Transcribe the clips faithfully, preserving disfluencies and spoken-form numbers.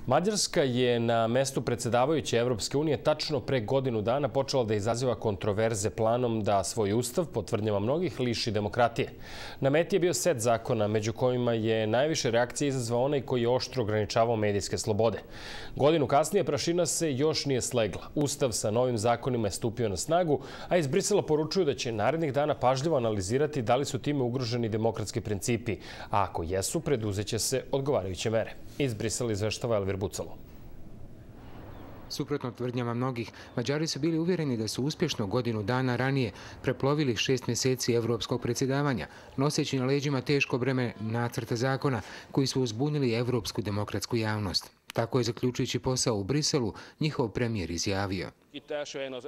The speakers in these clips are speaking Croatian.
Mađarska je na mestu predsjedavajuće Evropske unije tačno pre godinu dana počela da izaziva kontroverze planom da svoj ustav, po tvrdnjama mnogih, liši demokratije. Na meti je bio set zakona, među kojima je najviše reakcije izazvao onaj koji je oštro ograničavao medijske slobode. Godinu kasnije prašina se još nije slegla. Ustav sa novim zakonima je stupio na snagu, a iz Brisela poručuju da će narednih dana pažljivo analizirati da li su time ugroženi demokratski principi, a ako jesu, preduzeće se odgovarajuće mere. Iz Brisela izveštava Elvir Bucalo. Suprotno tvrdnjama mnogih, Mađari su bili uvjereni da su uspješno godinu dana ranije preplovili šest mjeseci evropskog predsjedavanja, noseći na leđima teško breme nacrta zakona koji su uzbunili evropsku demokratsku javnost. Tako je, zaključujući posao u Briselu, njihov premijer izjavio: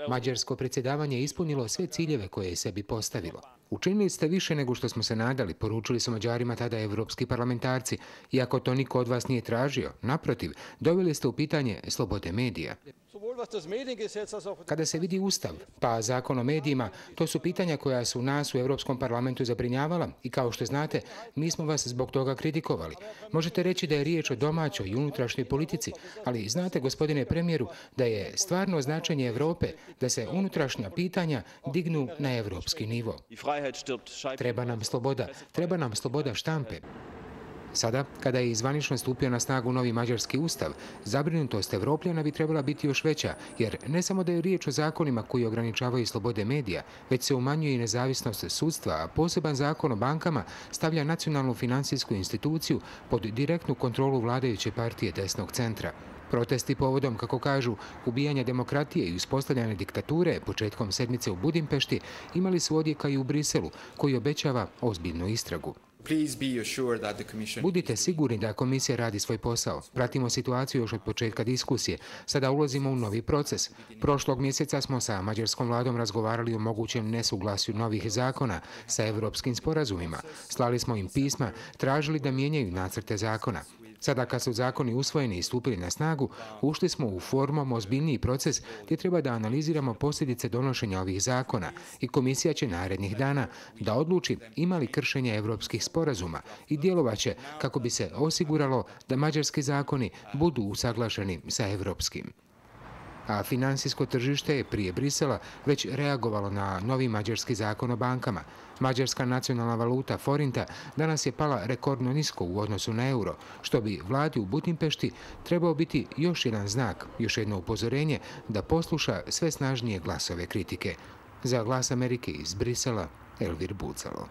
Mađarsko predsjedavanje je ispunilo sve ciljeve koje je sebi postavilo. Učinili ste više nego što smo se nadali, poručili su Mađarima tada evropski parlamentarci, iako to niko od vas nije tražio. Naprotiv, doveli ste u pitanje slobode medija. Kada se vidi ustav, pa zakon o medijima, to su pitanja koja su nas u Evropskom parlamentu zabrinjavala i, kao što znate, mi smo vas zbog toga kritikovali. Možete reći da je riječ o domaćoj i unutrašnjoj politici, ali znate, gospodine premijeru, da je stvarno značenje Evrope da se unutrašnja pitanja dignu na evropski nivo. Treba nam sloboda, treba nam sloboda štampe. Sada, kada je zvanično stupio na snagu novi mađarski ustav, zabrinutost Evropljana bi trebala biti još veća, jer ne samo da je riječ o zakonima koji ograničavaju slobode medija, već se umanjuje i nezavisnost sudstva, a poseban zakon o bankama stavlja nacionalnu finansijsku instituciju pod direktnu kontrolu vladajuće partije desnog centra. Protesti povodom, kako kažu, ubijanja demokratije i uspostavljanja diktature početkom sedmice u Budimpešti imali su odjeka i u Briselu, koji obećava ozbiljnu istragu. Budite sigurni da komisija radi svoj posao. Pratimo situaciju još od početka diskusije. Sada ulazimo u novi proces. Prošlog mjeseca smo sa mađarskom vladom razgovarali o mogućem nesuglasju novih zakona sa evropskim sporazumima. Slali smo im pisma, tražili da mijenjaju nacrte zakona. Sada, kad su zakoni usvojeni i stupili na snagu, ušli smo u formom ozbiljniji proces gdje treba da analiziramo posljedice donošenja ovih zakona i komisija će narednih dana da odluči ima li kršenja evropskih sporazuma i djelovaće kako bi se osiguralo da mađarski zakoni budu usaglašeni sa evropskim. A finansijsko tržište je prije Brisela već reagovalo na novi mađarski zakon o bankama. Mađarska nacionalna valuta forinta danas je pala rekordno nisko u odnosu na euro, što bi vladi u Budimpešti trebao biti još jedan znak, još jedno upozorenje da posluša sve snažnije glasove kritike. Za Glas Amerike iz Brisela, Elvir Bucalo.